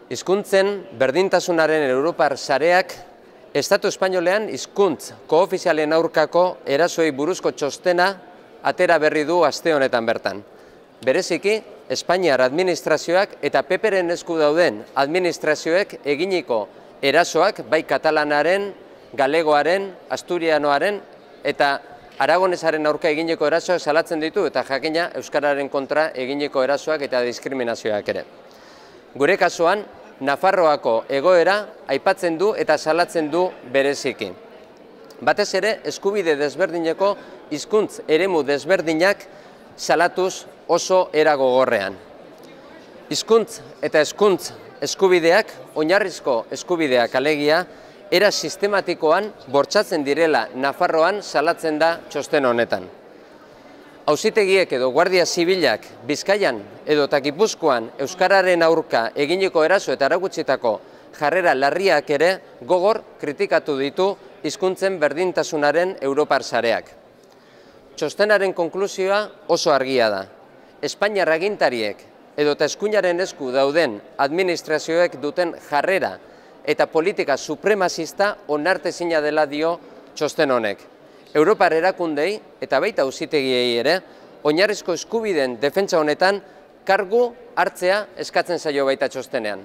Hizkuntzen berdintasunaren Europar sareak Estatu Espainolean hizkuntz koofizialen aurkako erasoei buruzko txostena atera berri du aste honetan bertan. Bereziki, Espainiar administrazioak eta PPren esku dauden administrazioek eginiko erasoak bai katalanaren, galegoaren, asturianoaren eta aragonesaren aurka eginiko erasoak salatzen ditu eta jakina euskararen kontra eginiko erasoak eta diskriminazioak ere. Gure kasuan, Nafarroako egoera aipatzen du eta salatzen du bereziki. Batez ere, eskubide desberdineko hizkuntz eremu desberdinak salatuz oso era gogorrean. Hizkuntz eta hezkuntz eskubideak, oinarrizko eskubideak alegia, era sistematikoan bortxatzen direla Nafarroan salatzen da txosten honetan. Auzitegiek edo Guardia Zibilak Bizkaian edo Gipuzkoan euskararen aurka eginiko eraso eta erakutsitako jarrera larriak ere gogor kritikatu ditu hizkuntzen berdintasunaren Europar sareak. Txostenaren konklusioa oso argia da. Espainiar agintariek edota eskuinaren esku dauden administrazioek duten jarrera eta politika supremazista onartezina dela dio txosten honek. Europar erakundei eta baita auzitegiei ere oinarrizko eskubideen defentsa honetan kargu hartzea eskatzen zaio baita txostenean.